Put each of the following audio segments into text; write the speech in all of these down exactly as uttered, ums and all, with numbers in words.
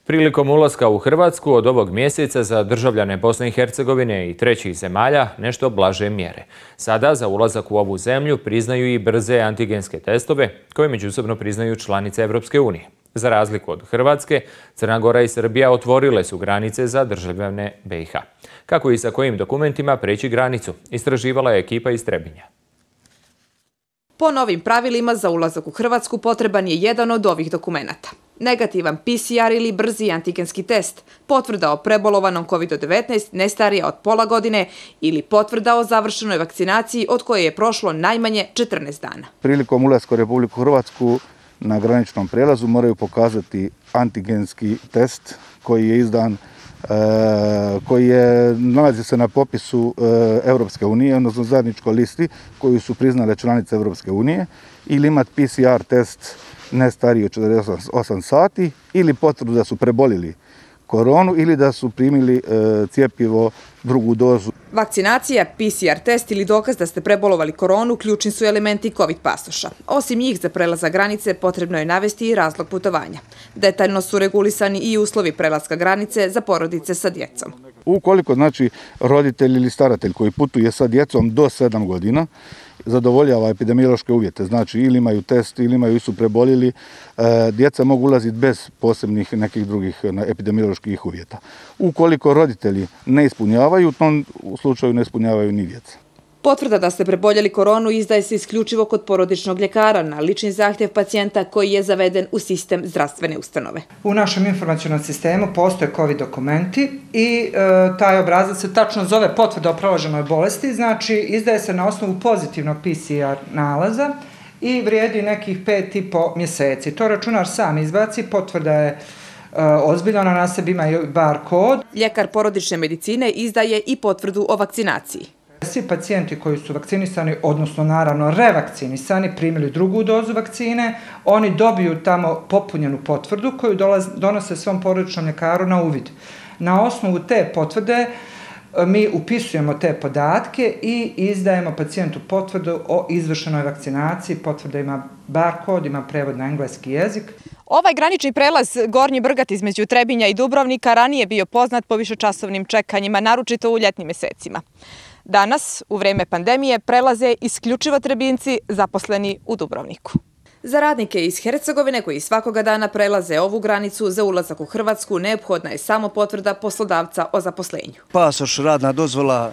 Prilikom ulaska u Hrvatsku od ovog mjeseca za državljane Bosne i Hercegovine i trećih zemalja nešto blaže mjere. Sada za ulazak u ovu zemlju priznaju i brze antigenske testove koje međusobno priznaju članice Evropske unije. Za razliku od Hrvatske, Crna Gora i Srbija otvorile su granice za državljane B i H. Kako i sa kojim dokumentima preći granicu, istraživala je ekipa iz Trebinja. Po novim pravilima za ulazak u Hrvatsku potreban je jedan od ovih dokumenata. Negativan P C R ili brzi antigenski test, potvrda o prebolovanom kovid devetnaest ne starija od pola godine ili potvrda o završenoj vakcinaciji od koje je prošlo najmanje četrnaest dana. Prilikom ulaska u Republiku Hrvatsku na graničnom prelazu moraju pokazati antigenski test koji je izdan, koji je, nalazi se na popisu Evropske unije, odnosno zajedničkoj listi koju su priznale članice Evropske unije, ili imati P C R test ne stariji od četrdeset osam sati ili potvrdu da su prebolili koronu ili da su primili cjepivo drugu dozu. Vakcinacija, P C R test ili dokaz da ste prebolovali koronu ključni su elementi COVID pasoša. Osim njih za prelazak granice potrebno je navesti i razlog putovanja. Detaljno su regulisani i uslovi prelaska granice za porodice sa djecom. Ukoliko znači roditelj ili staratelj koji putuje sa djecom do sedam godina zadovoljava epidemiološke uvjete, znači ili imaju test ili imaju su prebolili, djeca mogu ulaziti bez posebnih nekih drugih epidemioloških uvjeta. Ukoliko roditelji ne ispunjavaju, u tom slučaju ne ispunjavaju ni djeca. Potvrda da ste preboljeli koronu izdaje se isključivo kod porodičnog ljekara na lični zahtjev pacijenta koji je zaveden u sistem zdravstvene ustanove. U našem informacionom sistemu postoje COVID dokumenti i e, taj obrazac se tačno zove potvrda o proloženoj bolesti, znači izdaje se na osnovu pozitivnog P C R nalaza i vrijedi nekih pet i po mjeseci. To računar sam izbaci, potvrda je ozbiljno, na sebi ima i bar kod. Ljekar porodične medicine izdaje i potvrdu o vakcinaciji. Svi pacijenti koji su vakcinisani, odnosno naravno revakcinisani, primili drugu dozu vakcine, oni dobiju tamo popunjenu potvrdu koju donose svom porodičnom ljekaru na uvid. Na osnovu te potvrde mi upisujemo te podatke i izdajemo pacijentu potvrdu o izvršenoj vakcinaciji. Potvrda ima barkod, ima prevod na engleski jezik. Ovaj granični prelaz Gornji Brgat između Trebinja i Dubrovnika ranije bio poznat po višečasovnim čekanjima, naročito u ljetnim mjesecima. Danas, u vrijeme pandemije, prelaze isključivo Trebinjci zaposleni u Dubrovniku. Za radnike iz Hercegovine koji svakoga dana prelaze ovu granicu za ulazak u Hrvatsku neophodna je samo potvrda poslodavca o zaposlenju. Pasoš, radna dozvola,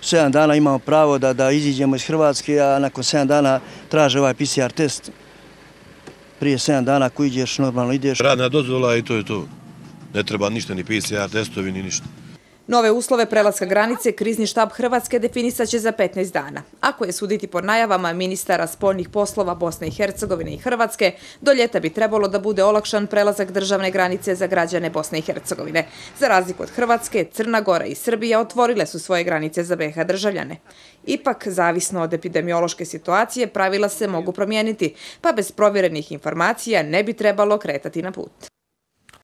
sedam dana imamo pravo da, da iziđemo iz Hrvatske, a nakon sedam dana traže ovaj P C R test. Prije sedam dana ako ideš, normalno ideš. Radna dozvola i to je to. Ne treba ništa, ni P C R testovi, ni ništa. Nove uslove prelaska granice krizni štab Hrvatske definisat će za petnaest dana. Ako je suditi po najavama ministara spoljnih poslova Bosne i Hercegovine i Hrvatske, do ljeta bi trebalo da bude olakšan prelazak državne granice za građane Bosne i Hercegovine. Za razliku od Hrvatske, Crna Gora i Srbija otvorile su svoje granice za B i H državljane. Ipak, zavisno od epidemiološke situacije, pravila se mogu promijeniti, pa bez provjerenih informacija ne bi trebalo kretati na put.